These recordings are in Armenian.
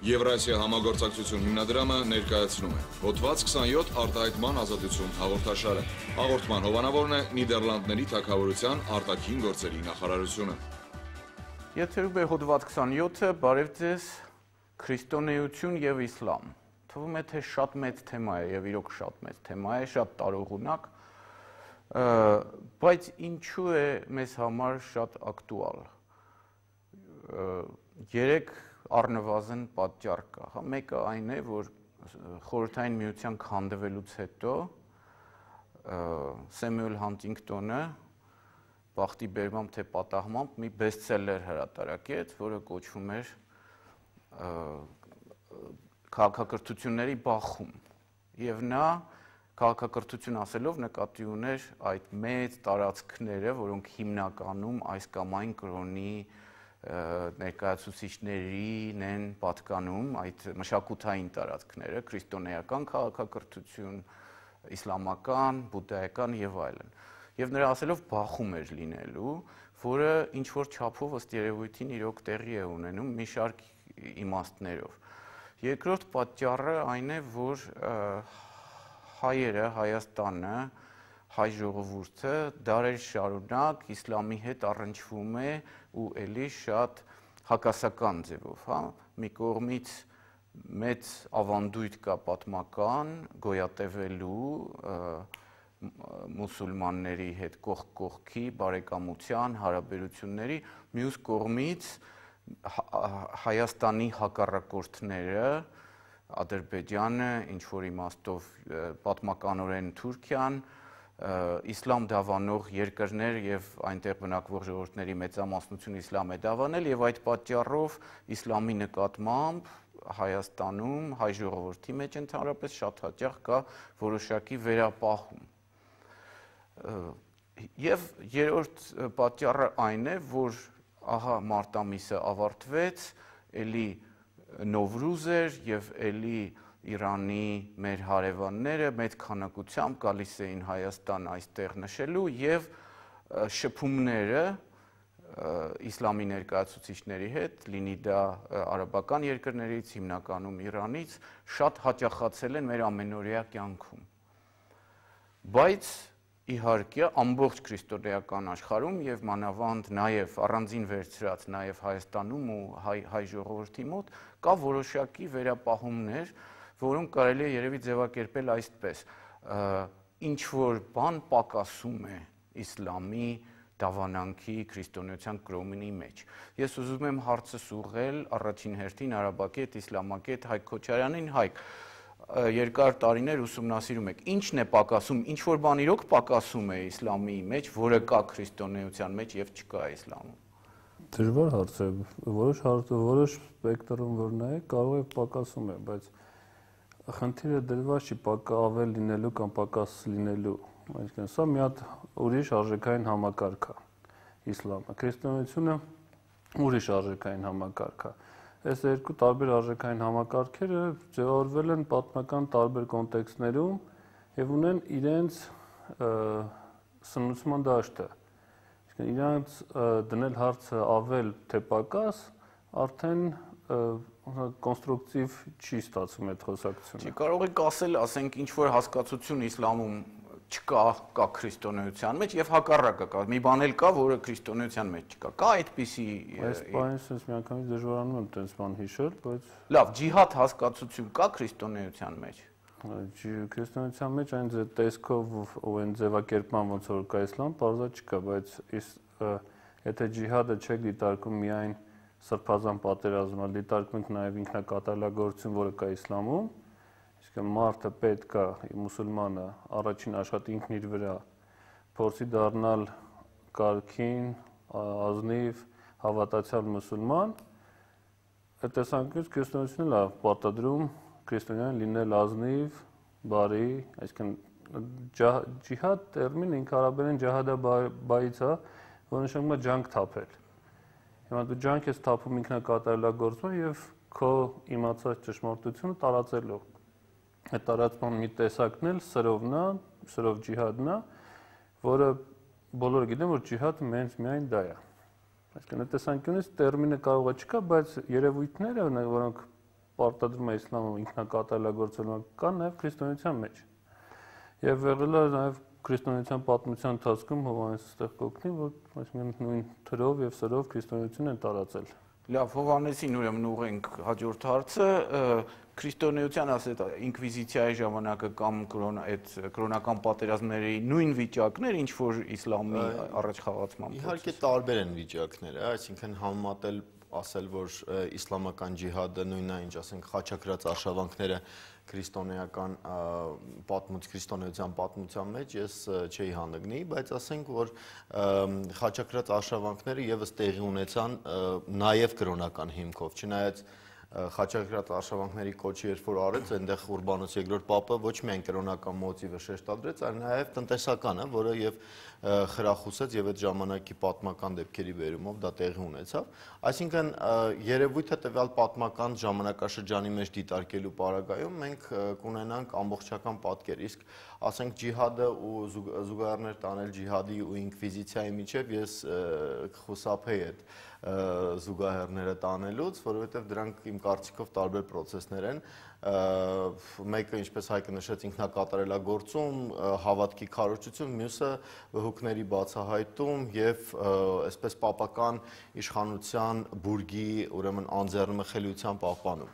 Եվրասիա համագործակցություն հիմնադրամը ներկայացնում է հոդված 27 արտահայտման ազատություն հաղորդաշարը։ Հաղորդման հովանավորն է Նիդերլանդների թագավորության արտաքին գործերի նախարարությունը։ Եթերում է հոդված 27-ը, բարև ձեզ, քրիստոնեություն եւ իսլամ։ Թվում է, թե շատ մեծ թեմա է եւ իրոք շատ մեծ թեմա է, շատ տարողունակ, բայց ինչու է մեզ համար շատ ակտուալ։ Երեք առնվազն պատճառ կա, հա, մեկը այն է, որ Խորհրդային Միության քանդվելուց հետո Սեմյուել Հանտինգտոնը բախտի բերմամբ թե պատահմամբ մի բեսթսելեր հրատարակեց, որը կոչվում էր քաղաքակրթությունների բախում, եւ նա քաղաքակրթություն ասելով նկատի ուներ այդ մեծ տարածքները, որոնք հիմնականում այս կամ այն կրոնի ներկայացուցիչներին են պատկանում, այդ մշակութային տարածքները, քրիստոնեական քաղաքակրթություն, իսլամական, բուդդայական եւ այլն։ Եվ նրա ասելով բախում էր լինելու, որը ինչ որ չափով ըստ երևույթին իրոք տեղի է ունենում մի շարք իմաստներով։ Երկրորդ պատճառը այն է, որ հայերը, Հայաստանը, հայ ժողովուրդը դարեր շարունակ իսլամի հետ առնչվում է ու էլի շատ հակասական ձևով, հա, մի կողմից մեծ ավանդույթ կա պատմական գոյատևելու մուսուլմանների հետ կողք կողքի բարեկամության հարաբերությունների, մյուս կողմից Հայաստանի հակառակորդները, Ադրբեջանը, ինչ որ իմաստով պատմականորեն Թուրքիան, իսլամ դավանող երկրներ եւ այնտեղ բնակվող ժողովուրդների մեծամասնությունը իսլամ է դավանել եւ այդ պատճառով իսլամի նկատմամբ Հայաստանում հայ ժողովրդի մեջ ընդհանրապես շատ հաճախ կա որոշակի վերապահում։ Եվ երրորդ պատճառը այն է, որ ահա մարտ ամիսը ավարտվեց, էլի Նովրուզ էր եւ էլի Իրանի մեր հարևանները մեծ քանակությամբ գալիս էին Հայաստան այստեղ նշելու եւ շփումները իսլամի ներկայացուցիչների հետ, լինի դա արաբական երկրներից, հիմնականում Իրանից, շատ հաճախացել են մեր ամենօրյա կյանքում։ Բայց իհարկե ամբողջ քրիստոնեական աշխարհում եւ մանավանդ նաեւ առանձին վերցրած նաեւ Հայաստանում ու հայ ժողովրդի մոտ կա որոշակի վերապահումներ, որոնք կարելի է երևի ձևակերպել այսպես. ինչ որ բան պակասում է իսլամի դավանանքի քրիստոնեության կրոնի մեջ։ Ես ուզում եմ հարցս ուղղել առաջին հերթին արաբակետ, իսլամակետ Հայկ Քոչարյանին։ Հայկ, երկար տարիներ ուսումնասիրում եք, ինչն է պակասում, ինչ որ բան իրոք պակասում է իսլամի մեջ, որը կա քրիստոնեության մեջ եւ չկա իսլամում։ Դժվար հարց է, որոշ սպեկտրում որ նայեք, կարող է պակասում է, բայց խնդիրը դրված չի ավել լինելու կամ պակաս լինելու, այսինքն սա մի հատ ուրիշ արժեքային համակարգ է, իսլամը, քրիստոնեությունը ուրիշ արժեքային համակարգ է։ Այս երկու տարբեր արժեքային համակարգերը ձևավորվել են պատմական տարբեր կոնտեքստներում եւ ունեն իրենց սնուցման դաշտը։ Այսինքն իրանց դնել հարցը ավել թե պակաս արդեն կոնստրուկտիվ չի ստացվում այդ խոսակցությունը։ Չի կարող եք ասել, ասենք ինչ որ հասկացություն իսլամում չկա, կա քրիստոնեության մեջ եւ հակառակը կա։ Մի բան էլ կա, որը քրիստոնեության մեջ չկա։ Կա այդպիսի այս բանը sense միանգամից դժվարանում եմ տես բան հիշել, բայց լավ, ջիհադ հասկացություն կա քրիստոնեության մեջ։ Քրիստոնեության մեջ այն տեսքով ու այն ձևակերպման ոնց որ կա իսլամ, բարձր չկա, բայց եթե ջիհադը չեք դիտարկում միայն սրբազան պատերազմը, դիտարկում ենք նաև ինքնակատարելագործություն, որը կա իսլամում, իսկ մարդը պետք է մուսուլմանը առաջին աշխատի ինքն իր վրա փորձի դառնալ կարգին, ազնիվ, հավատացյալ մուսուլման, այդ տեսանկյունից քրիստոնեությունը լավ պարտադրում քրիստոնյան լինել ազնիվ, բարի, այսինքն ջիհադ տերմինը ինքը արաբերեն ջահադա բայից է, որը նշանակում է ջանք թափել։ Հիմա դու ջանք ես թափում ինքնակատարելագործում եւ քո իմացած ճշմարտությունը տարածելով։ Այդ տարածման մի տեսակն էլ սրովն է, սրով ջիհադն է, որը բոլորը գիտեն, որ ջիհադը միայն դա է։ Այսինքն այդ տեսանկյունից տերմինը կարող է չկա, բայց երևույթները, որոնք պարտադրում է իսլամը ինքնակատարելագործելու, կա նաև քրիստոնեության մեջ։ Եվ եղել է նաև քրիստոնեության պատմության ընթացքում Հովհաննեսը ստեղ կօգնի, որ այսինքն նույն թրով եւ սրով քրիստոնեություն են տարածել։ Լավ, Հովհաննեսին ուրեմն ուղենք հաջորդ հարցը, քրիստոնեության ասეთ ինկվիզիցիայի ժամանակը կամ այդ կրոնական պատերազմների նույն վիճակներ, ինչ որ իսլամի առաջ խաղացման։ Իհարկե տարբեր են վիճակները, այսինքն համեմատել ասել, որ իսլամական ջիհադը նույնն է, ինչ ասենք խաչակրած արշավանքները քրիստոնեական քրիստոնեության պատմության մեջ ես չէի հանդգնի, բայց ասենք, որ խաչակրած արշավանքները եւս տեղի ունեցան նաեւ կրոնական հիմքով, չնայած խաչակրած արշավանքների կոչը երբ որ արեց, այնտեղ Ուրբանոս II Պապը ոչ միայն կրոնական մոտիվը շեշտադրեց, այլ նաև տնտեսականը, որը եւ խրախուսեց եւ այդ ժամանակի պատմական դեպքերի վերումով դա տեղի ունեցավ։ Այսինքն երևույթը տվյալ պատմական ժամանակաշրջանի մեջ դիտարկելու պարագայում մենք կունենանք ամբողջական պատկեր, իսկ ասենք ջիհադը ու զուգահեռներ տանել ջիհադի ու ինկվիզիցիայի միջև ես կխուսափեի այդ զուգահեռները տանելուց, որովհետև դրանք իմ կարծիքով տարբեր պրոցեսներ են, մեկը ինչպես Հայկը նշեց ինքնակատարելագործում, հավատքի քարոզություն, մյուսը վհուկների բացահայտում եւ այսպես պապական իշխանության բուրգի, ուրեմն անձեռնմխելիության պահպանում։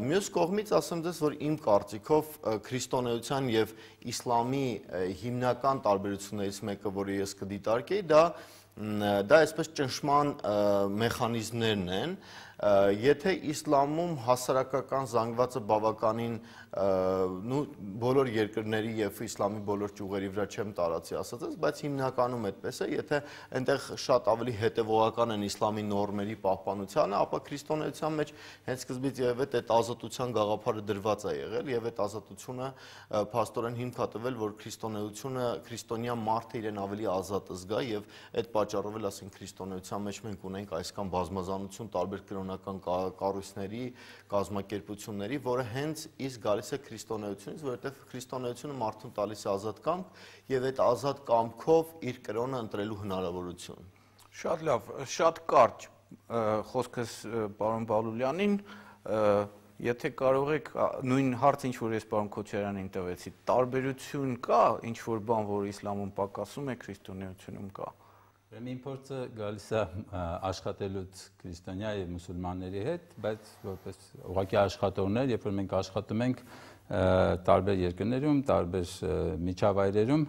Մյուս կողմից ասեմ ձեզ, որ իմ կարծիքով քրիստոնեության եւ իսլամի հիմնական տարբերություններից մեկը, որը ես կդիտարկեի, դա այսպես ճնշման մեխանիզմներն են, եթե իսլամում հասարակական զանգվածը բավականին բոլոր երկրների եւ իսլամի բոլոր ճյուղերի վրա չեմ տարածի ասածս, բայց հիմնականում այդպես է, եթե այնտեղ շատ ավելի հետեւողական են իսլամի նորմերի պահպանությանը, ապա քրիստոնեության մեջ հենց սկզբից եւ այդ ազատության գաղափարը դրված է եղել եւ այդ ազատությունը փաստորեն հիմք է տվել, որ քրիստոնեությունը, քրիստոնյա մարդը իրեն ավելի ազատ զգա եւ այդ պատճառով էլ ասենք քրիստոնեության մեջ մենք ունենք այսքան բազմազանություն տարբեր կրոնական կառույցների, կազմակերպությունների, որը հենց իսկ գալիս է քրիստոնեությունից, որովհետև քրիստոնեությունը մարդուն տալիս է ազատ կամք եւ այդ ազատ կամքով իր կրոնը ընտրելու հնարավորություն։ Շատ լավ, շատ կարճ խոսքս պարոն Բալուլյանին, եթե կարող եք նույն հարց, ինչ որ ես պարոն Քոչարյանին տվեցի, տարբերություն կա, ինչ որ բան, որ իսլամում պակասում է, քրիստոնեությունում կա։ Իմ փորձը գալիս է աշխատելուց քրիստոնյա եւ մուսուլմանների հետ, բայց որպես ուղղակի աշխատողներ, երբ որ մենք աշխատում ենք տարբեր երկրներում, տարբեր միջավայրերում,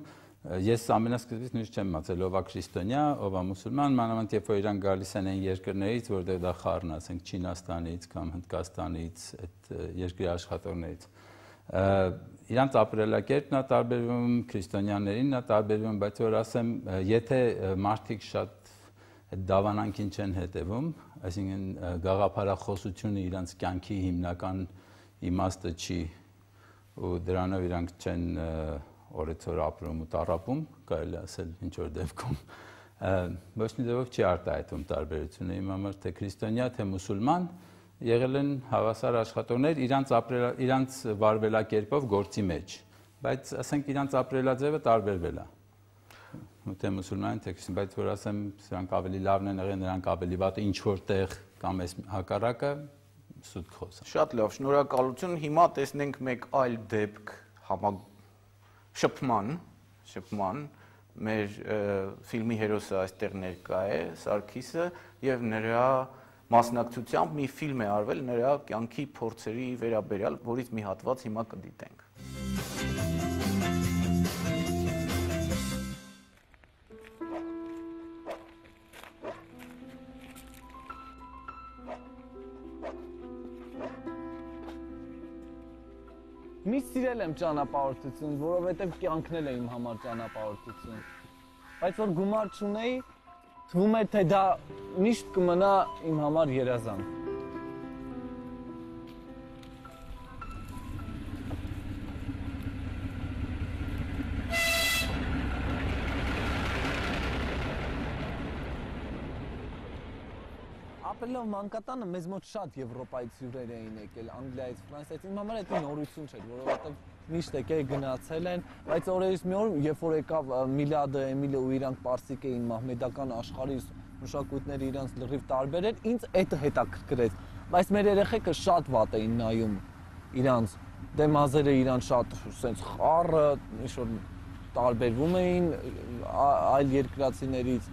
ես ամենասկզբից նույնիսկ չեմ մտածել ով է քրիստոնյա, ով է մուսուլման, մանավանդ երբ որ իրանք գալիս են այն երկրներից, որտեղ դա խառն է, ասենք Չինաստանից կամ Հնդկաստանից, այդ երկրի աշխատողներից։ Իրանց ապրելակերպն է տարբերվում, քրիստոնյաներին է տարբերվում, բայց որ ասեմ, եթե մարդիկ շատ դավանանքին չեն հետևում, այսինքն գաղափարախոսությունը իրանց կյանքի հիմնական իմաստը չի ու դրանով իրանք չեն օրեցօր ապրում ու տառապում, կարելի ասել ինչ որ դեպքում, ոչ մի ձևով չի արտահայտվում տարբերությունը իմ համար, թե քրիստոնյա, թե մուսուլման, եղել են հավասար աշխատողներ իրանց վարվելակերպով գործի մեջ, բայց ասենք իրանց ապրելաձևը տարբերվել է, թե մուսուլման, թե քրիստոնյա, բայց որ ասեմ, սրանք ավելի լավն են եղել, նրանք ավելի վատ ինչ որտեղ կամ այս հակառակը սուտ խոսա։ Շատ լավ, շնորհակալություն, հիմա տեսնենք մեկ այլ դեպք շփման, մեր ֆիլմի հերոսը այստեղ ներկա է, Սարգիսը, եւ նրա մասնակցությամբ մի ֆիլմ է արվել նրա կյանքի փորձերի վերաբերյալ, որից մի հատված հիմա կդիտենք։ Միշտ սիրել եմ ճանապարհորդություն, որովհետև կյանքն է իմ համար ճանապարհորդություն։ Բայց որ գումար չունեի, թվում է թե դա միշտ կմնա իմ համար երազանք։ Ապրելով մանկատանը մեզ մոտ շատ Եվրոպայից հյուրեր էին եկել, Անգլիայից, Ֆրանսիայից, իմ համար դա նորություն չէր, որովհետև միշտ եկել գնացել են, բայց օրերից մի օր, երբ որ եկավ Միլադը, Էմիլը ու իրանք պարսիկ էին մահմեդական աշխարհի մշակույթները իրանց լրիվ տարբեր էր, ինձ դա հետաքրքրեց։ բայց մեր երեխեքը շատ վատ էին նայում իրանց, դե մազերը իրան շատ սենց խառը, ինչ-որ տարբերվում էին այլ երկրացիներից,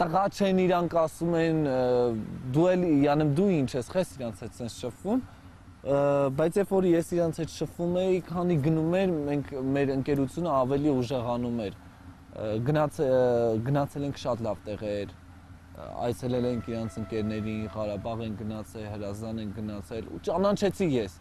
տղա չեն իրանք ասում են, դու էլ, յանեմ դու ինչ ես, խես իրանց հետ սենց շփվում, բայց երբ որ ես իրանց հետ շփվում էի, քանի գնում էր, մենք մեր ընկերությունը ավելի ուժեղանում էր, գնացել ենք շատ լավ տեղեր, այցելել ենք իրանց ընկերներին, Ղարաբաղ են գնացել, Հրազդան են գնացել ու ճանաչեցի ես։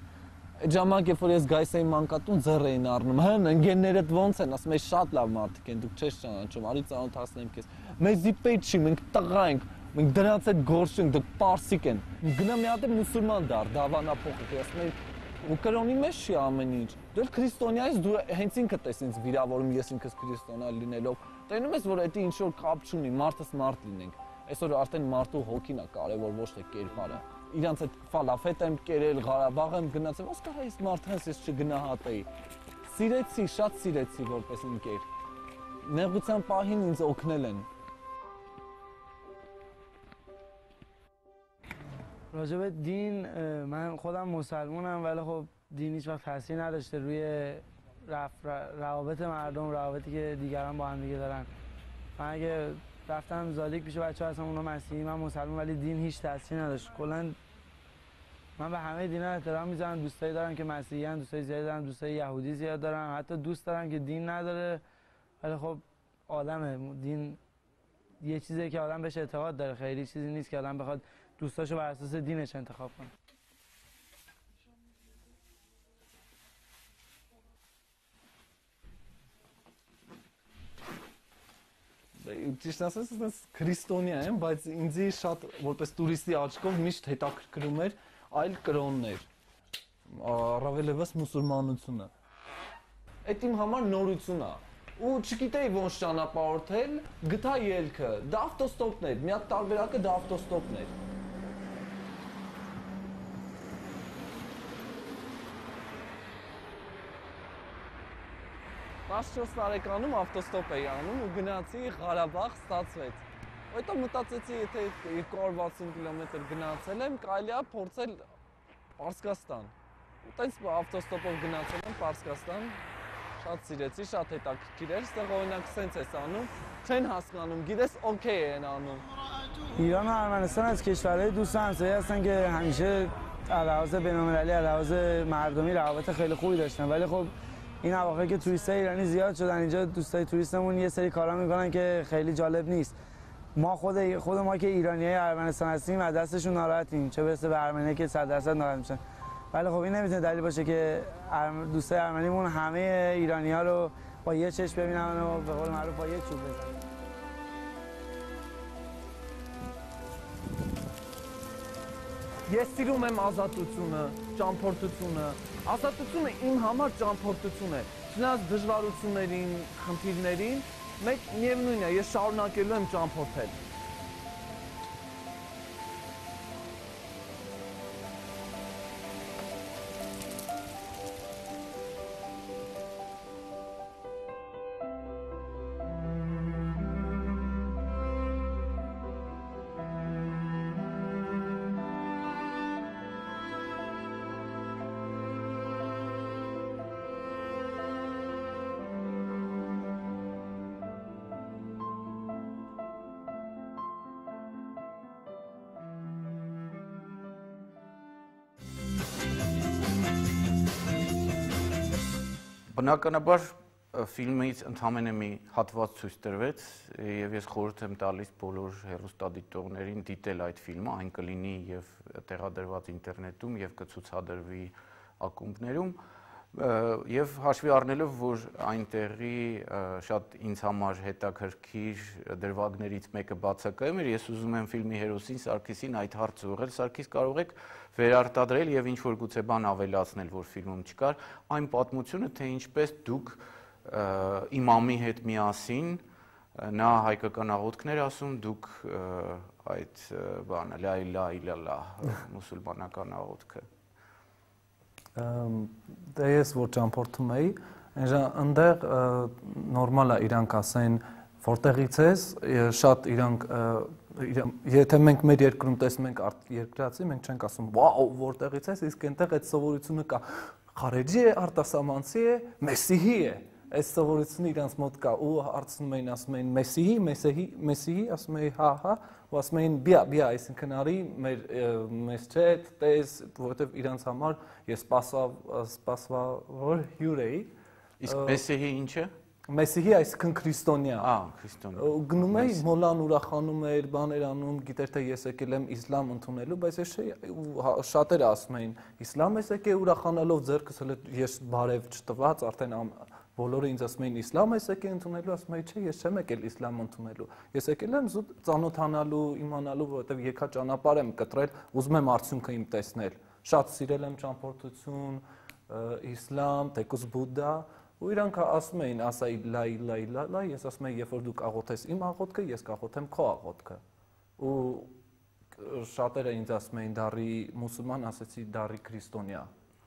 Այդ ժամանակ երբ որ ես գայս էի մանկատուն ձեռ էին առնում, հն ընկերներդ ոնց են, ասում են շատ լավ մարդիկ են, դուք չես ճանաչում, արի ծանոթացնեմ քեզ։ Մեզի պետք չի, մենք տղա ենք, մենք դրանց հետ գործ չենք, դուք պարսիկ են։ Գնա մի հատ մուսուլման դար, դավանափոխ, ասում են ու կրոնի մեջ չի ամեն ինչ։ Դու քրիստոնյա ես, դու հենց ինքդ ես ինձ վիրավորում, ես ինքս քրիստոնյա լինելով։ Տենում ես, որ դա ինչ որ կապ չունի, մարդս մարդ լինենք։ Այսօր արդեն մարդու հոգին է կարևոր, ոչ թե կերպարը։ Իրանց այդ ֆալաֆետ եմ կերել, Ղարաբաղ եմ գնացել, ոնց կարա ես մարդանց ես չգնահատեի։ Սիրեցի, շատ սիրեցի որպես ընկեր։ Նեղության պահին ինձ օգնել են։ راجع به دین من خودم مسلمانم ولی خب دین هیچ وقت تاثیر نداشته روی روابط مردم، روابطی که دیگران با هم دیگه دارن. من اگه رفتم زادیک پیش بچه‌ها هستم اونا مسیحی، من مسلمان، ولی دین هیچ تاثیر نداشت. کلا من به همه دینا احترام میذارم، دوستایی دارم که مسیحی ان، دوستای زیادی دارم، دوستای یهودی زیاد دارم، حتی دوست دارم که دین نداره ولی خب آدمه، دین یه چیزیه که آدم بهش اعتقاد داره، خیلی چیزی نیست که آدم بخواد دوستاشو بر اساس دینش انتخاب کنه. Ճիշտ ասած, ես քրիստոնյա եմ, բայց ինձի շատ որպես տուրիստի աչքով միշտ հետաքրքրում էր այլ կրոններ, առավելևս մուսուլմանությունը։ Այդ իմ համար նորություն է։ Ու չգիտեի ոնց ճանապարհորդել, գտա ելքը, դա ավտոստոպն էր, մի հատ տարբերակը դա ավտոստոպն էր։ 14 տարեկանում ավտոստոպ էի անում ու գնացի Ղարաբաղ, ստացվեց։ Հետո մտածեցի, եթե 260 կիլոմետր գնացել եմ, կարելի է փորձել Պարսկաստան։ Ու տենց ավտոստոպով գնացել եմ Պարսկաստան, շատ սիրեցի, շատ հետաքրքիր էր, այստեղ օրինակ սենց ես անում, չեն հասկանում, գիտես օքեյ են անում։ ایران و ارمنستان از کشورهای دوست همسایه هستن که همیشه علاوه بین‌المللی علاوه مردمی روابط خیلی خوبی داشتن، ولی خب این اواخر که توریستای ایرانی زیاد شدن اینجا، دوستای توریستمون یه سری کارا میکنن که خیلی جالب نیست. ما خود ما که ایرانیای ارمنستان هستیم از دستشون ناراحتیم، چه برسه به ارمنی که 100% ناراحت میشن. ولی خب این نمیتونه دلیل باشه که دوستای ارمنیمون همه ایرانی‌ها رو با یه چشم ببینن و به قول معروف با یه چوب بزنن. Ես սիրում եմ ազատությունը, ճամփորդությունը։ Ազատությունը իմ համար ճամփորդություն է։ Չնայած դժվարություններին, խնդիրներին, մեկ միևնույն է, ես շարունակելու եմ ճամփորդել։ Բնականաբար ֆիլմից ընդհանրապես մի հատված ցույց տրվեց եւ ես խորհուրդ եմ տալիս բոլոր հեռուստադիտողներին դիտել այդ ֆիլմը, այն կլինի եւ տեղադրված ինտերնետում եւ կցուցադրվի ակումբներում եւ հաշվի առնելով, որ այնտեղի շատ ինձ համար հետաքրքիր դրվագներից մեկը բացակայում էր, ես ուզում եմ ֆիլմի հերոսին Սարգիսին այդ հարցը ուղղել։ Սարգիս, կարող եք վերարտադրել եւ ինչ-որ գուցե բան ավելացնել, որ ֆիլմում չկար, այն պատմությունը, թե ինչպես դուք իմամի հետ միասին, նա հայկական աղոթքներ ասում, դուք այդ բանը լա իլա իլալա մուսուլմանական աղոթքը։ Դե ես որ ճամփորդում էի, այնտեղ նորմալ է իրանք ասեն որտեղից ես, շատ իրանք եթե մենք մեր երկրում տեսնում ենք երկրացի, մենք չենք ասում, «Վաու, որտեղից ես», իսկ այնտեղ այդ սովորությունը կա։ Խարեջի է, արտասահմանցի է, մեսիհի է։ Այս սովորությունը իրանց մոտ կա ու հարցնում էին, ասում էին մեսիհի, ասում էին հա, ու ասում էին բիա, այսինքն արի մեզ չէ, տես, որովհետև իրանց համար ես սպասավոր հյուր էի։ Իսկ մեսիհի ինչ է։ Մեսիհի այսինքն քրիստոնյա։ Քրիստոնյա։ Գնում էի, մոլան ուրախանում էր, բաներ անում, գիտեր թե ես եկել եմ իսլամ ընդունելու, բայց ես շատերը ասում էին, իսլամ ես եկել ուրախանալով ձեռքս հələ ես բարև չտված, արդեն բոլորը ինձ ասում էին իսլամ ես եկել ընդունելու, ասում էի, չէ, ես չեմ եկել իսլամ ընդունելու։ Ես եկել եմ զուտ ծանոթանալու, իմանալու, որովհետև եկա ճանապարհ եմ կտրել, ուզում եմ արդյունքը իմ տեսնել։ Շատ սիրել եմ ճամփորդություն, իսլամ, թեկուզ բուդդա, ու իրանք ասում էին, ասայի լա, ես ասում եմ, երբ որ դու կաղոթես իմ աղոթքը, ես կաղոթեմ քո աղոթքը։ Ու շատերը ինձ ասում էին դառի մուսուլման, ասեցի դառի քրիստոնյա։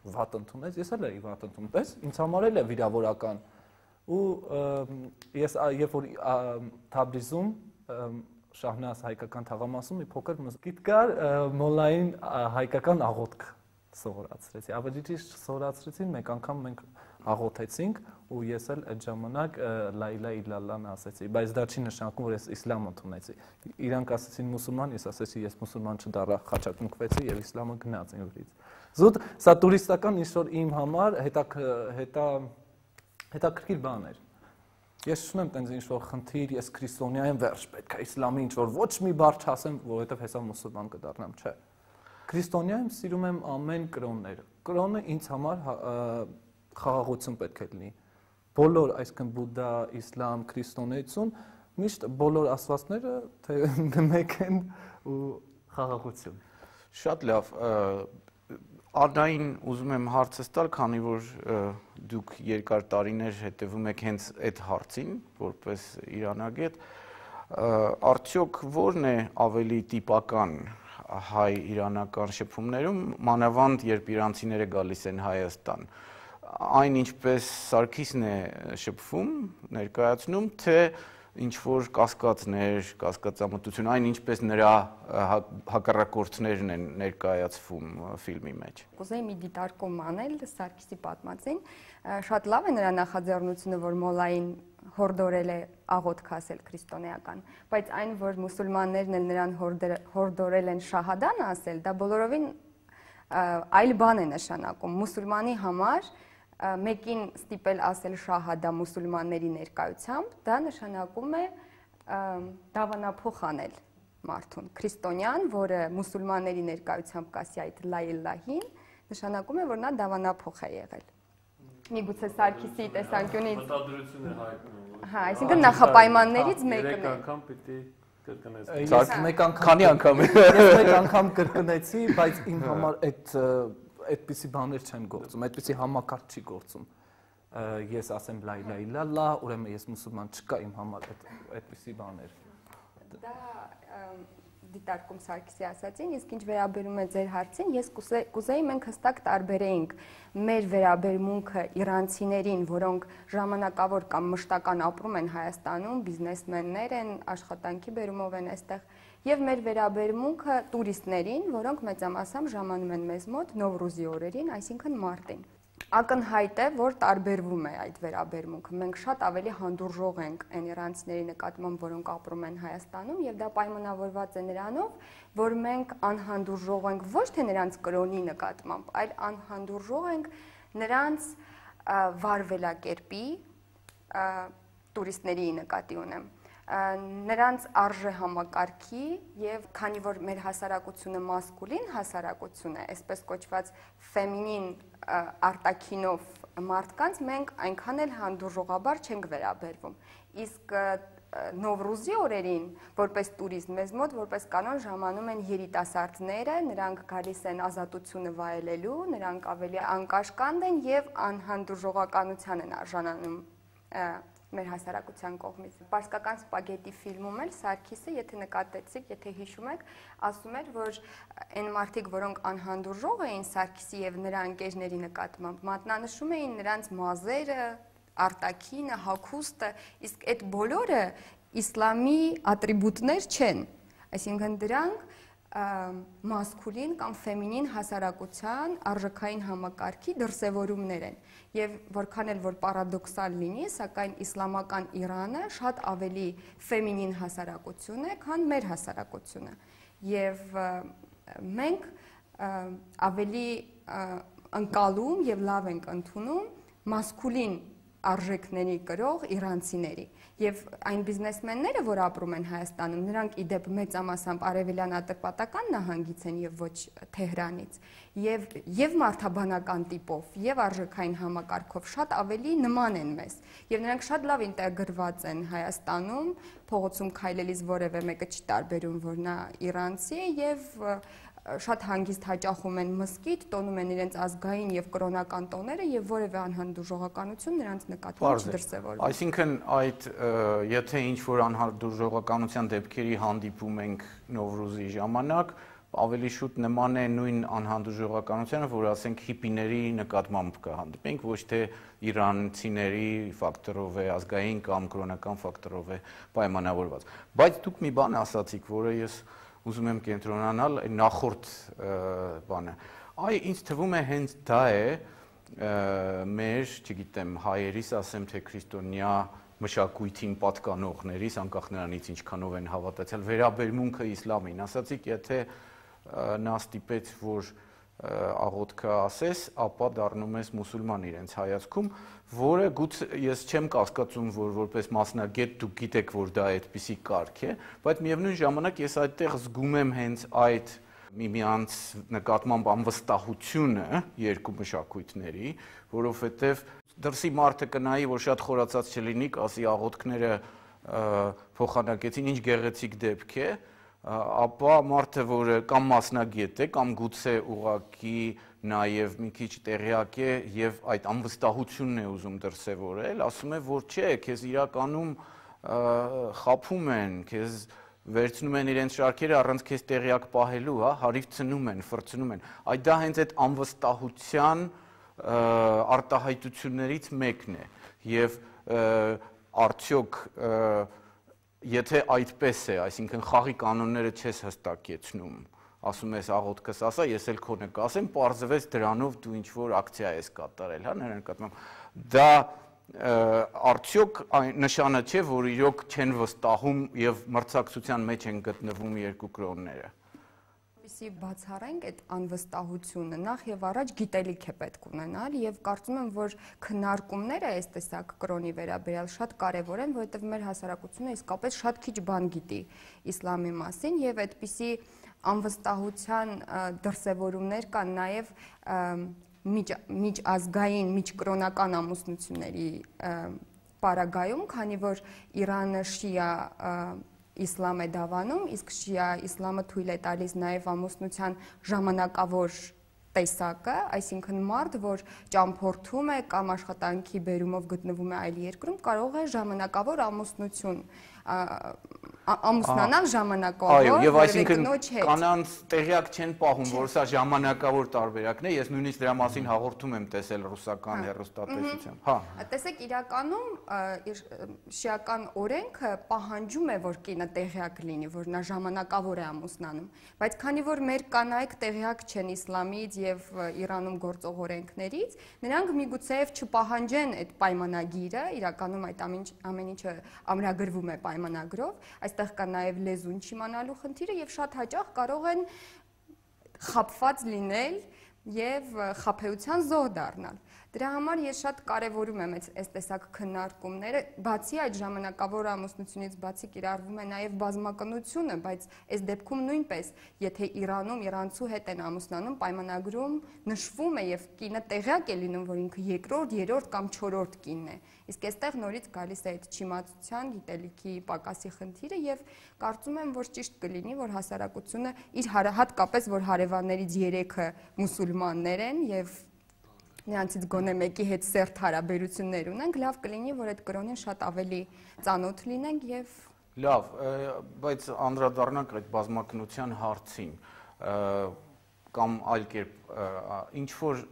Վատ ընդունես, ես էլ էի վատ ընդունում, պես ինձ համար էլ է վիրավորական։ Ու ես երբ որ Թաբրիզում Շահնազ հայկական թաղամասում մի փոքր մզկիթ կար, մոլային հայկական աղոթք սովորացրեցի։ Ավելի ճիշտ սովորացրեցին, մեկ անգամ մենք աղոթեցինք ու ես էլ այդ ժամանակ լա իլա իլալլան ասեցի, բայց դա չի նշանակում, որ ես իսլամ ընդունեցի։ Իրանք ասեցին մուսուլման, ես ասեցի ես մուսուլման չդառա, խաչակնկվեցի եւ իսլամը գնաց ինձից։ Զուտ սա տուրիստական ինչ-որ իմ համար հետաքրքիր բան էր։ Ես չունեմ տենց ինչ-որ խնդիր, ես քրիստոնյա եմ, վերջ պետք է իսլամի ինչ-որ ոչ մի բառ չասեմ, որովհետև հեսա մուսուլման կդառնամ, չէ։ Քրիստոնյա եմ, սիրում եմ ամեն կրոնները։ Կրոնը ինձ համար խաղաղություն պետք է լինի։ Բոլոր, այսինքն բուդդա, իսլամ, քրիստոնեություն, միշտ բոլոր աստվածները թե մեկ են ու խաղաղություն։ Շատ լավ։ Ադային ուզում եմ հարցս տալ, քանի որ դուք երկար տարիներ հետևում եք հենց այդ հարցին, որպես իրանագետ, արդյոք ո՞րն է ավելի տիպական հայ-իրանական շփումներում, մանավանդ երբ իրանցիները գալիս են Հայաստան, այն ինչպես Սարգիսն է շփվում, ներկայացնում, թե ինչ-որ կասկածներ, կասկածամտություն, այն ինչպես նրա հակառակորդներն են ներկայացվում ֆիլմի մեջ։ Կուզեի մի դիտարկում անել Սարգիսի պատմածին, շատ լավ է նրա նախաձեռնությունը, որ մոլային հորդորել է աղոթք ասել քրիստոնեական, բայց այն, որ մուսուլմաններն էլ նրան հորդորել են շահադան ասել, դա բոլորովին այլ բան է նշանակում։ Մուսուլմանի համար մեկին ստիպել ասել շահադա մուսուլմանների ներկայությամբ, դա նշանակում է դավանափոխ անել մարդուն։ Քրիստոնյան, որը մուսուլմանների ներկայությամբ կասի այդ լա իլլահին, նշանակում է, որ նա դավանափոխ է եղել։ Միգուցե Սարգիսի տեսանկյունից մտադրություն է հայտնում։ Հա, այսինքն նախապայմաններից մեկն է։ Երեք անգամ պիտի կրկնես։ Ես մեկ անգամ քանի անգամ ես մեկ անգամ կրկնեցի, բայց իմ համար այդպիսի բաներ չեն գործում, այդպիսի համակարգ չի գործում։ Ես ասեմ լա իլա իլալլա, ուրեմն ես մուսուլման չկա իմ համար այդպիսի բաներ։ Դա դիտարկում Սարգիսի ասացին, իսկ ինչ վերաբերում է ձեր հարցին, ես կուզեի մենք հստակ տարբերեինք մեր վերաբերմունքը իրանցիներին, որոնք ժամանակավոր կամ մշտական ապրում են Հայաստանում, բիզնեսմեններ են, աշխատանքի բերումով են այստեղ, եւ մեր վերաբերմունքը տուրիստներին, որոնք մեծամասամբ ժամանում են մեզ մոտ Նովրուզի օրերին, այսինքն մարտին։ Ակնհայտ է, որ տարբերվում է այդ վերաբերմունքը։ Մենք շատ ավելի հանդուրժող ենք այն իրանցիների նկատմամբ, որոնք ապրում են Հայաստանում, եւ դա պայմանավորված է նրանով, որ մենք անհանդուրժող ենք ոչ թե նրանց կրոնի նկատմամբ, այլ անհանդուրժող ենք նրանց վարվելակերպի, տուրիստների նկատի ունեմ, նրանց արժե համակարգի եւ քանի որ մեր հասարակությունը մասկուլին հասարակություն է, այսպես կոչված ֆեմինին արտաքինով մարդկանց մենք այնքան էլ հանդուրժողաբար չենք վերաբերվում։ Իսկ Նովրուզի օրերին, որպես տուրիստ, մեզ մոտ որպես կանոն ժամանում են երիտասարդները, նրանք գալիս են ազատությունը վայելելու, նրանք ավելի անկաշկանդ են եւ անհանդուրժողականության են արժանանում մեր հասարակության կողմից։ Պարսկական սպագետի ֆիլմում էլ Սարգիսը, եթե նկատեցիք, եթե հիշում եք, ասում էր, որ այն մարդիկ, որոնք անհանդուրժող էին Սարգիսի եւ նրա ընկերների նկատմամբ, մատնանշում էին նրանց մազերը, արտաքինը, հագուստը, իսկ այդ բոլորը իսլամի ատրիբուտներ չեն։ Այսինքն դրանք մասկուլին կամ ֆեմինին հասարակության արժեքային համակարգի դրսևորումներ են եւ որքան էլ որ պարադոքսալ լինի, սակայն իսլամական Իրանը շատ ավելի ֆեմինին հասարակություն է, քան մեր հասարակությունը եւ մենք ավելի ընկալում եւ լավ ենք ընդունում մասկուլին արժեքների կրող իրանցիների եւ այն բիզնեսմենները, որ ապրում են Հայաստանում, նրանք իդեպ մեծամասամբ արևելյան Ատրպատական նահանգից են եւ ոչ Թեհրանից եւ մարդաբանական տիպով եւ արժեքային համակարգով շատ ավելի նման են մեզ եւ նրանք շատ լավ ինտեգրված են Հայաստանում, փողոցում քայլելիս որևէ մեկը չի տարբերում, որ նա իրանցի է եւ շատ հանգիստ հաճախում են մզկիթ, տոնում են իրենց ազգային եւ կրոնական տոները եւ որևէ անհանդուրժողականություն նրանց նկատմամբ չդրսևորվում։ Այսինքն այդ եթե ինչ որ անհանդուրժողականության դեպքերի հանդիպում ենք Նովրուզի ժամանակ, ավելի շուտ նման է նույն անհանդուրժողականությանը, որ ասենք հիպիների նկատմամբ կհանդիպենք, ոչ թե իրանցիների ֆակտորով է, ազգային կամ կրոնական ֆակտորով է պայմանավորված։ Բայց դուք մի բան ասացիք, որը ես ուզում եմ կենտրոնանալ նախորդ բանը։ Այ ինձ թվում է հենց դա է մեր, չգիտեմ, հայերիս ասեմ թե քրիստոնյա մշակույթին պատկանողներիս, անկախ նրանից ինչքանով են հավատացյալ, վերաբերմունքը իսլամին։ Ասացիք, եթե նա ստիպեց, որ աղոթքը ասես, ապա դառնում ես մուսուլման իրենց հայացքում, որը գուցե ես չեմ կասկածում, որ որպես մասնագետ դուք գիտեք, որ դա այդպիսի կարգ է, բայց միևնույն ժամանակ ես այդտեղ զգում եմ հենց այդ միմյանց նկատմամբ անվստահությունը երկու մշակույթների, որովհետև դրսի մարդը կնայի, որ շատ խորացած չլինի, ասի աղոթքները փոխանակեցին, ինչ գեղեցիկ դեպք է, ապա մարդը, որը կամ մասնագետ է, կամ գուցե ուղղակի նաև մի քիչ տեղյակ է եւ այդ անվստահությունն է ուզում դրսևորել, ասում է, որ չէ, քեզ իրականում խափում են, քեզ վերցնում են իրենց շարքերը առանց քեզ տեղյակ պահելու, հա, հարիվ ցնում են, ֆրցնում են։ Այդ դա հենց այդ անվստահության արտահայտություններից մեկն է եւ արդյոք եթե այդպես է, այսինքն խաղի կանոնները չես հստակեցնում, ասում ես աղոթքս ասա, ես էլ քոնը կասեմ, պարզվեց դրանով դու ինչ-որ ակցիա ես կատարել, հա, նրա նկատմամբ։ Դա արդյոք նշանը չէ, որ իրոք չեն վստահում եւ մրցակցության մեջ են գտնվում երկու կրոնները։ Որպեսզի բացառենք այդ անվստահությունը, նախ եւ առաջ գիտելիք է պետք ունենալ եւ կարծում եմ, որ քննարկումները այս տեսակ կրոնի վերաբերյալ շատ կարեւոր են, որովհետեւ մեր հասարակությունը իսկապես շատ քիչ բան գիտի իսլամի մասին եւ այդպիսի անվստահության դրսևորումներ կան նաեւ միջազգային, միջկրոնական ամուսնությունների պարագայում, քանի որ Իրանը շիա իսլամ է դավանում, իսկ շիա իսլամը թույլ է տալիս նաև ամուսնության ժամանակավոր տեսակը, այսինքն մարդ, որ ճամփորդում է կամ աշխատանքի բերումով գտնվում է այլ երկրում, կարող է ժամանակավոր ամուսնություն ամուսնանալ ժամանակավոր, այո, եւ այսինքն կանանց տեղյակ չեն պահում, որ սա ժամանակավոր տարբերակն է, ես նույնիսկ դրա մասին հաղորդում եմ տեսել ռուսական հեռուստատեսությամբ։ Հա։ Տեսեք, իրականում շիական օրենքը պահանջում է, որ կինը տեղյակ լինի, որ նա ժամանակավոր է ամուսնանում, բայց քանի որ մեր կանայք տեղյակ չեն իսլամից եւ Իրանում գործող օրենքներից, նրանք միգուցեև չպահանջեն այդ պայմանագիրը, իրականում այդ ամեն ինչը ամրագրվում է պայմանագրով, այստեղ կա նաև լեզուն չիմանալու խնդիրը եւ շատ հաճախ կարող են խաբված լինել եւ խաբեության զոհ դառնալ։ Դրա համար ես շատ կարևորում եմ այս տեսակ քննարկումները, բացի այդ ժամանակավոր ամուսնությունից բացի կիրառվում է նաև բազմակնությունը, բայց այս դեպքում նույնպես, եթե Իրանում իրանցու հետ են ամուսնանում, պայմանագրում նշվում է եւ կինը տեղյակ է լինում, որ ինքը երկրորդ, երրորդ կամ չորրորդ կինն է։ Իսկ այստեղ նորից գալիս է այդ չիմացության, գիտելիքի պակասի խնդիրը եւ կարծում եմ, որ ճիշտ կլինի, որ հասարակությունը իր հատկապես որ հարևաններից 3-ը մուսուլմաններ են եւ նրանցից գոնե մեկի հետ սերտ հարաբերություններ ունենք, լավ կլինի, որ այդ կրոնին շատ ավելի ծանոթ լինենք եւ լավ, բայց անդրադառնանք այդ բազմակնության հարցին կամ այլ կերպ ինչ որ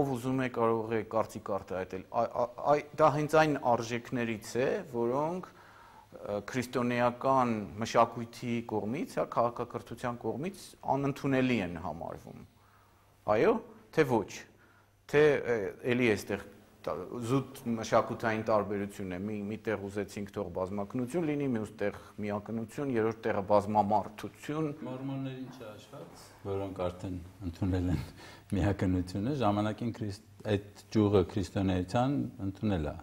ով ուզում է կարող է կարծիք արտահայտել, դա հենց այն արժեքներից է, որոնք քրիստոնեական մշակույթի կողմից, հա, քաղաքակրթության կողմից անընդունելի են համարվում։ Այո, թե ոչ, թե էլի էստեղ զուտ մշակութային տարբերություն է, միտեղ ուզեցինք թող բազմակնություն լինի, մյուս տեղ միակնություն, երրորդ տեղը բազմամարդություն։ Մորմոններին չհաշված, որոնք արդեն ընդունել են միակնությունը, ժամանակին այդ ճյուղը քրիստոնեության ընդունել է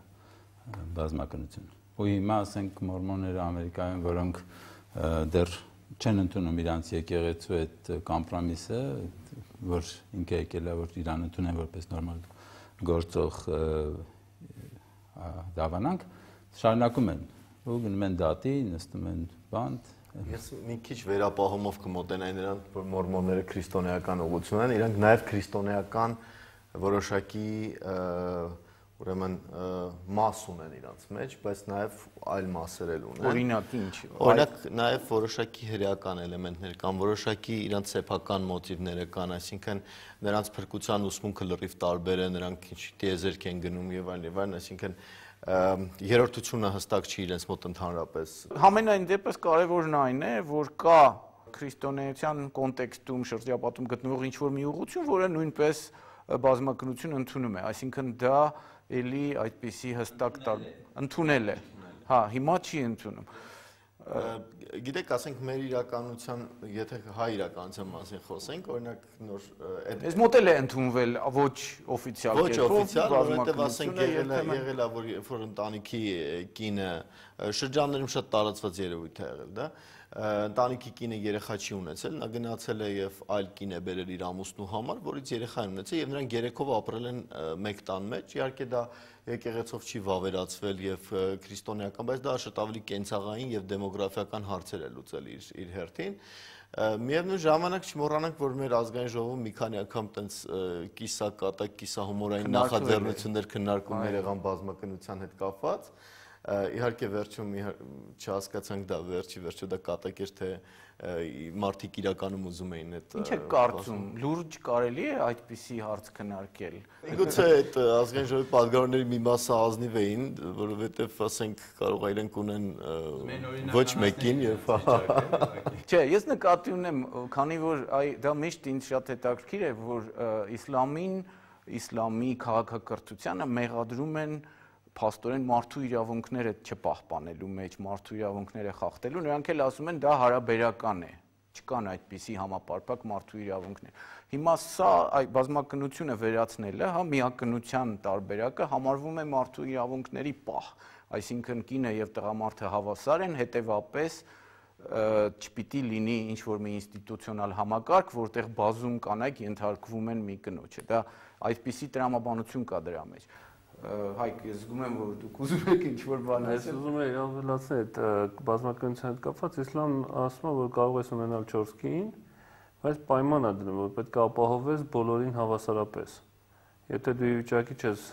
բազմակնությունը։ Ու հիմա ասենք մորմոնները Ամերիկայում, որոնք դեռ չեն ընդունում իրանց եկեղեցու այդ կոմպրոմիսը, որ ինքը եկել է, որ իրան ընդունեն որպես նորմալ գործող դավանանք, շարունակում են ու գնում են դատի, նստում են բանտ։ Ես մի քիչ վերապահումով կմոտենայի նրան, որ մորմոնները քրիստոնեական ուղղություն են, իրանք նաև քրիստոնեական որոշակի ուրեմն մաս ունեն իրանց մեջ, բայց նաև այլ մասեր էլ ունեն։ Օրինակ ինչ։ Օրինակ նաև որոշակի հրեական էլեմենտներ կան, որոշակի իրանց սեփական մոտիվները կան, այսինքն նրանց փրկության ուսմունքը լրիվ տարբեր է, նրանք ինչ տիեզերք են գնում եւ այլն, այսինքն երրորդությունը հստակ չի իրենց մոտ ընդհանրապես։ Համենայն դեպս կարևորն այն է, որ կա քրիստոնեության կոնտեքստում շրջապատում գտնվող ինչ-որ մի ուղղություն, որը նույնպես բազմակնություն ընդունում է, այսինքն դա էլի այդպիսի հստակ ընդունել է։ Հա, հիմա չի ընդունում։ Գիտեք, ասենք մեր իրականության, եթե հայ իրականության մասին խոսենք, օրինակ նոր Այս մոդել է ընդունվել ոչ օֆիցիալ կերպով, ոչ օֆիցիալ, որովհետև ասենք եղել է, որ ընտանիքի կինը շրջաններում շատ տարածված երևույթ է եղել, դա ընտանիքի կինը երեխա չի ունեցել, նա գնացել է եւ այլ կին է բերել իր ամուսնու համար, որից երեխա են ունեցել եւ նրանք երեքով ապրել են մեկ տան մեջ, իհարկե դա եկեղեցով չի վավերացվել եւ քրիստոնեական, բայց դա շատ ավելի կենցաղային եւ դեմոգրաֆիական հարցեր է լուծել իր հերթին։ Միևնույն ժամանակ չմոռանանք, որ մեր ազգային ժողովում մի քանի անգամ տենց կիսակատակ, կիսահումորային նախաձեռնություններ քննարկումներ եղան բազմակնության հետ կապված։ Իհարկե վերջում չհասկացանք դա վերջի դա կատակ էր, թե մարդիկ իրականում ուզում էին այդ։ Ինչ է կարծում, լուրջ կարելի է այդպիսի հարց քննարկել։ Միգուցե այդ ազգային ժողովի պատգամավորների մի մասը ազնիվ էին, որովհետև ասենք կարող է իրենք ունեն ոչ մեկին եւ Չէ, ես նկատի ունեմ, քանի որ դա միշտ ինձ շատ հետաքրքիր է, որ իսլամի քաղաքակրթությանը մեղադրում են փաստորեն մարդու իրավունքները չպահպանելու մեջ, մարդու իրավունքները խախտելու, նրանք էլ ասում են դա հարաբերական է, չկան այդպիսի համապարփակ մարդու իրավունքներ։ Հիմա սա բազմակնությունը վերացնելը, հա, միակնության տարբերակը համարվում է մարդու իրավունքների պահ, այսինքն կինը եւ տղամարդը հավասար են, հետեւապես չպիտի լինի ինչ-որ մի ինստիտուցիոնալ համակարգ, որտեղ բազում կանայք ենթարկվում են մի կնոջը։ Դա այդպիսի տրամաբանություն կա դրա մեջ։ Հայկ, ես զգում եմ, որ դուք ուզում եք ինչ-որ բան ասել։ Ես ուզում եմ ավելացնել այդ բազմակնության հետ կապված, իսլամն ասում է, որ կարող ես ունենալ 4 կին, բայց պայման է դնում, որ պետք է ապահովես բոլորին հավասարապես։ Եթե դու ի վիճակի չես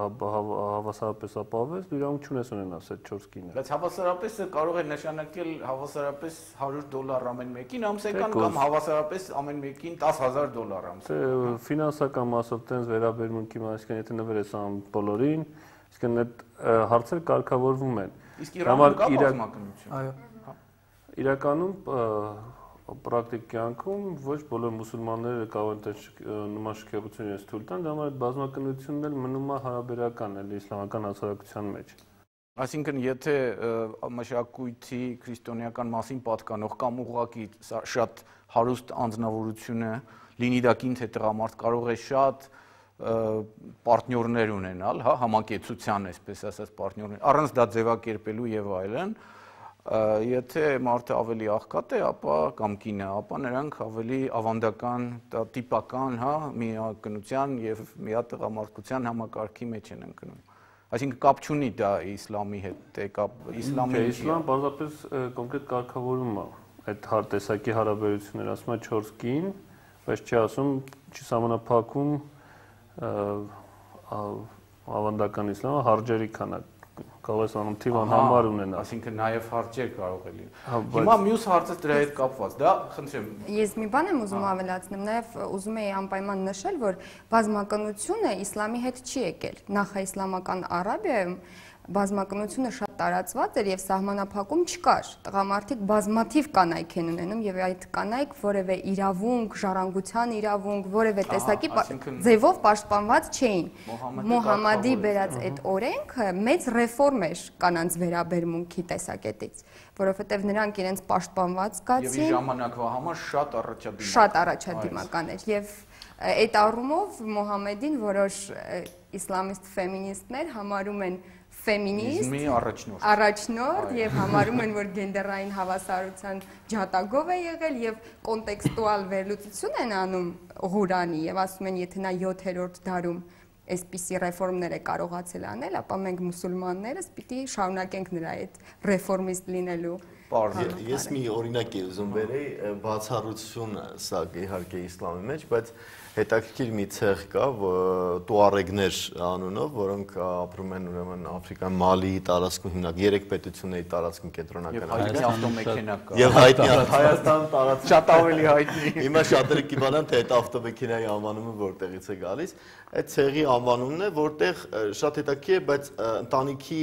հավասարապես ապահովես, դու իրավունք չունես ունենալ այդ 4 կինը։ Բայց հավասարապես կարող է նշանակել հավասարապես $100 ամեն մեկին ամսական կամ հավասարապես ամեն մեկին $10,000 ամսական։ Ֆինանսական մասով տենց վերաբերմունքի մասը, եթե նվերես ամ բոլորին, իսկ այդ հարցեր կարգավորվում են։ Իսկ Իրանում կա բազմակնություն։ Այո։ Իրականում պրակտիկ կյանքում ոչ բոլոր մուսուլմանները կարող են նման շքեղություն իրենց թույլ տան, դա համար այդ բազմակնությունն էլ մնում է հարաբերական էլ իսլամական հասարակության մեջ։ Այսինքն, եթե մշակույթի քրիստոնեական մասին պատկանող կամ ուղղակի շատ հարուստ անձնավորությունը լինի դա կին թե տղամարդ կարող է շատ պարտներներ ունենալ, հա, համակեցության, այսպես ասած, պարտներներ, առանց դա ձևակերպելու եւ այլն, եթե մարդը ավելի աղքատ է, ապա կամ կինը, ապա նրանք ավելի ավանդական, տիպական, հա, միակնության եւ միատղամարդկության համակարգի մեջ են ընկնում։ Այսինքն կապ չունի դա իսլամի հետ, իսլամի իսլամ բազմապես կոնկրետ կարգավորում է այդ տեսակի հարաբերություններ, ասում է 4 կին, բայց չի ասում, չի սահմանափակում ավանդական իսլամը հարջերի քանակ, կարող ես անում թիվ անհամար ունենալ։ Այսինքն նաև հարջեր կարող է լինել։ Հիմա մյուս հարցը դրա հետ կապված, դա խնդրեմ։ Ես մի բան եմ ուզում ավելացնել, նաև ուզում եի անպայման նշել, որ բազմակնությունը իսլամի հետ չի եկել։ Նախաիսլամական Արաբիայում բազմակնությունը շատ տարածված էր եւ սահմանափակում չկար։ Տղամարդիկ բազմաթիվ կանայք են ունենում եւ այդ կանայք որևէ իրավունք, ժառանգության իրավունք, որևէ տեսակի ձևով պաշտպանված չէին։ Մոհամմադի բերած այդ օրենքը մեծ ռեֆորմ էր կանանց վերաբերմունքի տեսակետից, որովհետեւ նրանք իրենց պաշտպանված զգացին եւ իր ժամանակվա համար շատ առաջադիմական էր եւ այդ առումով Մոհամմեդին որոշ իսլամիստ ֆեմինիստներ համարում են ֆեմինիստ առաջնորդ եւ համարում են, որ գենդերային հավասարության ջատագով է եղել եւ կոնտեքստուալ վերլուծություն են անում Ղուրանի եւ ասում են, եթե նա 7-րդ դարում այսպիսի ռեֆորմներ է կարողացել անել, ապա մենք մուսուլմաններս պիտի շարունակենք նրա այդ ռեֆորմիստ լինելու։ Ես մի օրինակ եմ ուզում բերեի, բացառությունը սա իհարկե իսլամի մեջ, բայց հետաքրքիր մի ցեղ կա, տուարեգներ անունով, որոնք ապրում են ուրեմն Աֆրիկան Մալիի տարածքում հիմնական 3 պետությունների տարածքում կենտրոնական Հայտնի ավտոմեքենա կա։ Եվ հայտնի Հայաստան տարածքում շատ ավելի հայտնի։ Հիմա շատերը կիմանան, թե այդ ավտոմեքենայի անվանումը որտեղից է գալիս։ Այդ ցեղի անվանումն է, որտեղ շատ հետաքրքիր է, բայց ընտանիքի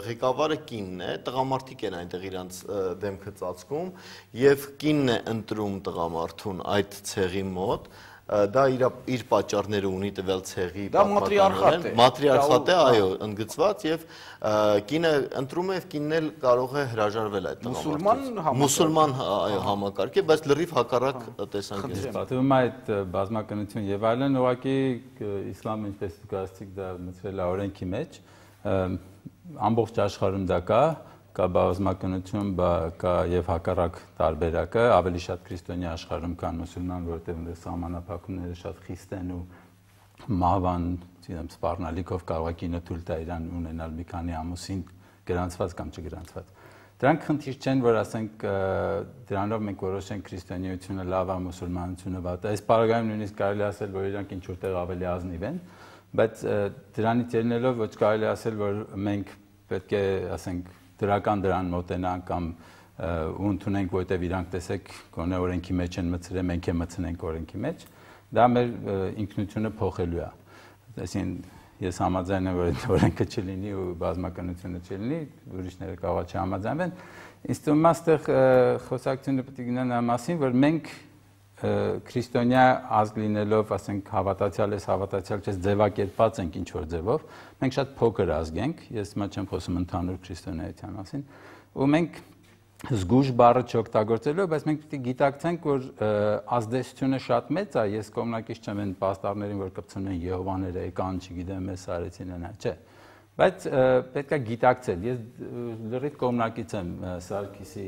ղեկավարը կինն է, տղամարդիկ են այնտեղ իրանց դեմքը ծածկում եւ կինն է ընտրում տղամարդուն այդ ցեղի մոտ դա իր պատճառները ունի տվյալ ցեղի պատմականորեն մատրիարխատ է, այո, ընդգծված եւ կինը ընտրում է եւ կինն էլ կարող է հրաժարվել այդ տղամարդուց մուսուլման այո համակարգ է, բայց լրիվ հակառակ տեսանկյունից պատմում է այդ բազմականություն եւ այլն ուղղակի իսլամը ինչպես դուք ասացիք դա մտցրել է օրենքի մեջ ամբողջ աշխարհում դա կա բազմականություն, կա եւ հակառակ տարբերակը, ավելի շատ քրիստոնյա աշխարհում կան մուսուլման, որտեղ դե սահմանափակումները շատ խիստ են ու մահվան, ասեմ, սպառնալիքով կարող է կինը թույլ տա իրան ունենալ մի քանի ամուսին գրանցված կամ չգրանցված։ Դրանք խնդիր չեն, որ ասենք դրանով մենք որոշենք քրիստոնեությունը լավ է, մուսուլմանությունը վատ է։ Այս բaragայում նույնիսկ կարելի ասել, որ իրանք ինչ որտեղ ավելի ազնիվ են, բայց դրանից ելնելով ոչ կարելի ասել, որ մենք պետք է, ասենք, դրական դրան մոտենանք կամ ու ընդունենք, որովհետև իրանք տեսեք գոնե օրենքի մեջ են մտցրել, մենք է մտցնենք օրենքի մեջ, դա մեր ինքնությունը փոխելու է։ Այսինքն ես համաձայն եմ, որ օրենքը չլինի ու բազմականությունը չլինի, ուրիշները կարող է չհամաձայնվեն։ Ինձ թվում է, այստեղ խոսակցությունը պետք է գնա նրա մասին, որ մենք քրիստոնյա ազգ լինելով, ասենք, հավատացյալ ես, հավատացյալ չես, ձևակերպած ենք ինչ-որ ձևով, մենք շատ փոքր ազգ ենք, ես հիմա չեմ խոսում ընդհանուր քրիստոնեության մասին, ու մենք զգուշ բառը չօգտագործելով, բայց մենք պետք է գիտակցենք, որ ազդեցությունը շատ մեծ է, ես կողմնակից չեմ այն պաստառներին, որ կպցնեն Եհովաները եկան, չգիտեմ, մեզ արեցին նա, չէ։ Բայց պետք է գիտակցել, ես լրիվ կողմնակից եմ Սարգիսի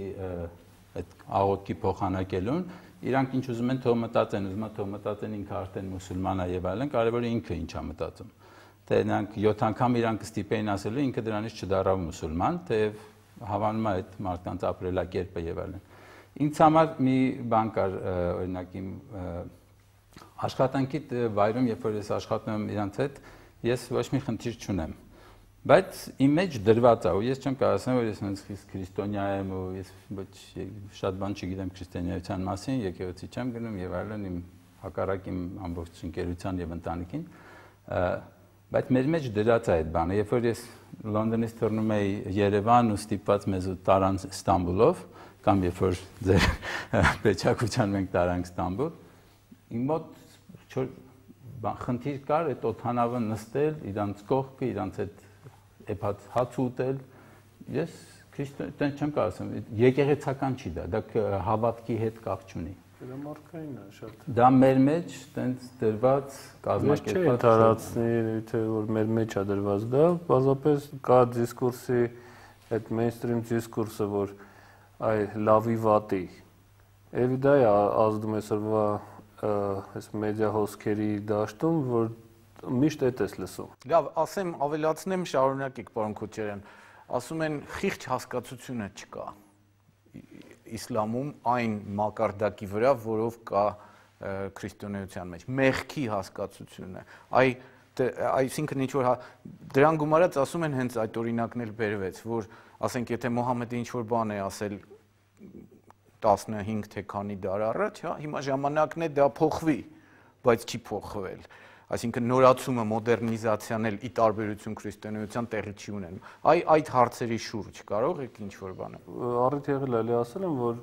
այդ աղոթքի փոխանակելուն, իրանք ինչ ուզում են թող մտածեն, ուզում են թող մտածեն ինքը արդեն մուսուլման է եւ այլն, կարևորը ինքը ինչ է մտածում։ Թե նրանք 7 անգամ իրանք ստիպեին ասելու, ինքը դրանից չդառավ մուսուլման, թեև հավանում է այդ մարդկանց ապրելակերպը եւ այլն։ Ինձ համար մի բան կար, օրինակ իմ աշխատանքի վայրում, երբ որ ես աշխատում եմ իրանց հետ, ես ոչ մի խնդիր չունեմ։ Բայց իմ մեջ դրված է, ու ես չեմ կարող ասեմ, որ ես հենց քրիստոնյա եմ ու ես ոչ շատ բան չգիտեմ քրիստոնեության մասին, եկեղեցի չեմ գնում եւ այլն, իմ հակառակ իմ ամբողջ ընկերության եւ ընտանիքին, բայց մեր մեջ դրած է այդ բանը, երբ որ ես Լոնդոնից թռնում էի Երևան ու ստիպված մեզ ու տարան Ստամբուլով, կամ երբ որ ձեր պետչակցության մենք տարանք Ստամբուլ, իմ մոտ խնդիր կար այդ օդանավը նստել, իրանց կողքը, իրանց այդ հաց ուտել, ես քրիստոնյա չեմ կարող ասեմ, եկեղեցական չի դա հավատքի հետ կապ չունի։ Դա մարդկային է շատ։ Դա մեր մեջ տենց դրված կազմակերպված։ Ես չէի տարածնի, թե որ մեր մեջ է դրված դա, բազապես կա դիսկուրսի այդ mainstream դիսկուրսը, որ այ լավի վատի։ Էլի դա է ազդում այսօրվա այս մեդիա հոսքերի դաշտում, որ միշտ այդ ես լսում։ Լավ, ասեմ, ավելացնեմ, շարունակեք, պարոն Քոչարյան, ասում են խիղճ հասկացությունը չկա իսլամում այն մակարդակի վրա, որով կա քրիստոնեության մեջ, մեղքի հասկացությունը, այսինքն ինչ-որ դրան գումարած ասում են հենց այդ օրինակն էլ բերվեց, որ ասենք եթե Մոհամեդը ինչ-որ բան է ասել 15 թե քանի դար առաջ, հիմա ժամանակն է դա փոխվի, բայց չի փոխվել։ այսինքն նորացումը, մոդեռնիզացիան էլ ի տարբերություն քրիստոնեության տեղի չի ունենում։ Այդ հարցերի շուրջ կարող եք ինչ-որ բան։ Առիթ եղել էլի ասել եմ, որ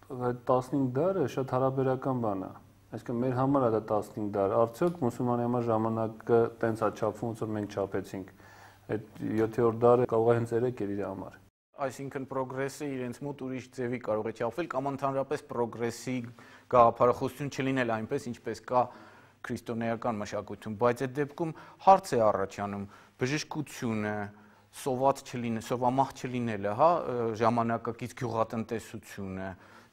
այդ 15 դարը շատ հարաբերական բան է։ Այսինքն մեր համար է դա 15 դար։ Արդյոք մուսուլմանի համար ժամանակը տենց է չափվում, ոնց որ մենք չափեցինք։ Այդ 7-րդ դարը կարող է հենց 3 էր իր համար։ Այսինքն պրոգրեսը իրենց մոտ ուրիշ ձևի կարող է չափվել կամ ընդհանրապես պրոգրեսի գաղափարախոսություն չլինել այնպես, ինչպես կա քրիստոնեական մշակույթում, բայց այդ դեպքում հարց է առաջանում բժշկությունը, սովամահ չլինելը, հա, ժամանակակից գյուղատնտեսությունը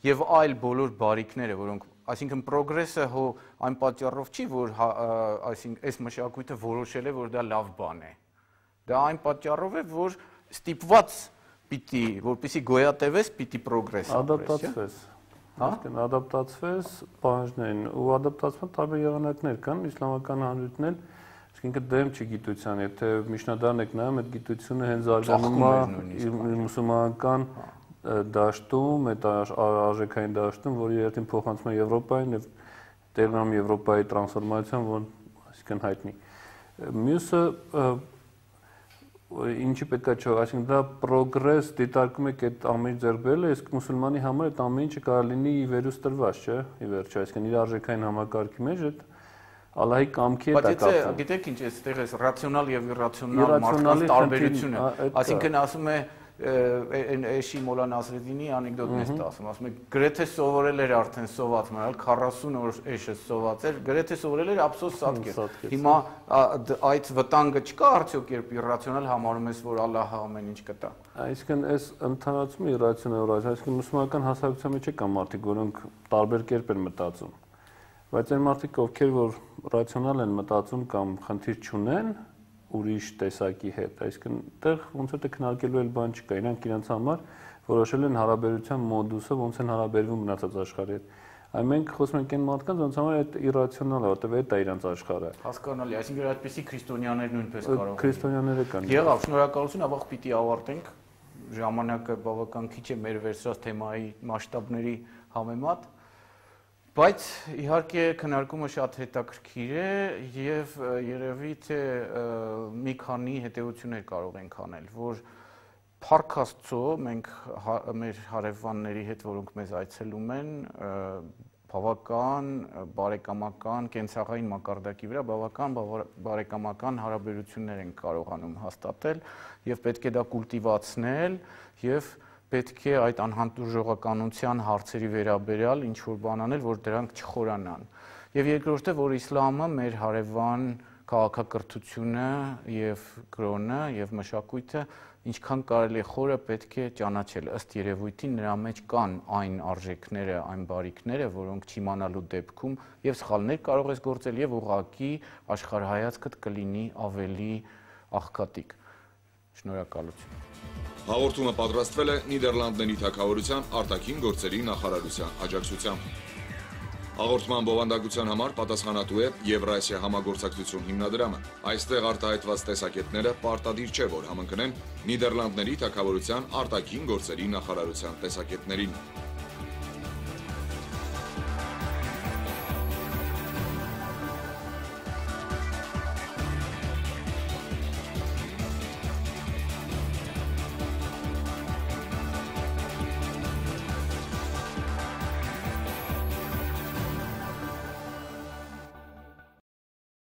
եւ այլ բոլոր բարիքները, որոնք, այսինքն պրոգրեսը հո այն պատճառով չի, որ այսինքն այս մշակույթը որոշել է, որ դա լավ բան է։ Դա այն պատճառով է, որ ստիպված պիտի, որպեսզի գոյատևես, պիտի պրոգրես ադապտացվես։ Այսինքն ադապտացվես բանջներին ու ադապտացման տարբեր եղանակներ կան, իսլամական հանրությունն էլ, այսինքն դեմ չի գիտության, եթե միջնադարն եք նայում, այդ գիտությունը հենց զարգանում է մուսուլմանական դաշտում, այդ արժեքային դաշտում, որի երթին փոխանցում է Եվրոպային եւ տեղում Եվրոպայի տրանսֆորմացիան, որ այսինքն հայտնի։ Մյուսը ինչի պետքա չէ, այսինքն դա պրոգրես դիտարկում եք այդ ամեն ձեռք բերելը, իսկ մուսուլմանի համար այդ ամեն ինչը կարող լինի ի վերուս տրված, չէ՞, ի վերջո, այսինքն իր արժեքային համակարգի մեջ այդ Ալլահի կամքի հետ է կապվում։ Բայց գիտեք ինչ, այստեղ է ռացիոնալ եւ իրացիոնալ մարդկանց տարբերությունը, այսինքն ասում է Էշի Մոլա Նասրեդինի անեկդոտն է ասում է գրեթե սովորել էր արդեն սոված մնալ 40 օր էշը սոված էր, գրեթե սովորել էր ափսոս սատկեր։ Հիմա այդ վտանգը չկա արդյոք, երբ իրացիոնալ համարում ես, որ Ալլահը ամեն ինչ կտա։ Այսինքն այս ընդհանրացումը իրացիոնալ է, այսինքն մուսուլմանական հասարակության մեջ կան մարդիկ, որոնք տարբեր կերպ են մտածում, բայց այն մարդիկ, ովքեր որ ռացիոնալ են մտածում կամ խնդիր չունեն ուրիշ տեսակի հետ, այսինքն այդտեղ ոնց որ քննարկելու էլ բան չկա, իրանք իրենց համար որոշել են հարաբերության մոդուսը, ոնց են հարաբերվում մնացած աշխարհի հետ։ Այն մենք խոսում ենք այն մարդկանց, ոնց համար այդ իրացիոնալ է, որտեղ այդ է իրենց աշխարհը։ Հասկանալի, այսինքն այդպեսի քրիստոնյաներ նույնպես կարող են։ Քրիստոնյաները կան։ Եղավ, շնորհակալություն, ավաղ պիտի ավարտենք։ Ժամանակը բավական քիչ է մեր վերցրած թեմայի մասշտաբների համեմատ։ Բայց իհարկե քննարկումը շատ հետաքրքիր է եւ երևի թե մի քանի հետեւություններ կարող ենք անել, որ Փառք Աստծո մենք մեր հարևանների հետ, որոնք մեզ այցելում են, բավական բարեկամական կենցաղային մակարդակի վրա բավական բարեկամական հարաբերություններ են կարողանում հաստատել եւ պետք է դա կուլտիվացնել եւ պետք է այդ անհանդուրժողականության հարցերի վերաբերյալ ինչ-որ բան անել, որ դրանք չխորանան։ Եվ երկրորդը, որ իսլամը մեր հարևան քաղաքակրթությունը եւ կրոնը եւ մշակույթը ինչքան կարելի է խորը պետք է ճանաչել։ Ըստ երևույթին նրա մեջ կան այն արժեքները, այն բարիքները, որոնք չիմանալու դեպքում եւ սխալներ կարող ես գործել եւ ուղղակի աշխարհայացքդ կլինի ավելի աղքատիկ։ Շնորհակալություն։ Հաղորդումը պատրաստվել է Նիդերլանդների թագավորության արտաքին գործերի նախարարության աջակցությամբ։ Հաղորդման բովանդակության համար պատասխանատու է Եվրասիա համագործակցություն հիմնադրամը։ Այստեղ արտահայտված տեսակետները պարտադիր չէ, որ համընկնեն Նիդերլանդների թագավորության արտաքին գործերի նախարարության տեսակետներին։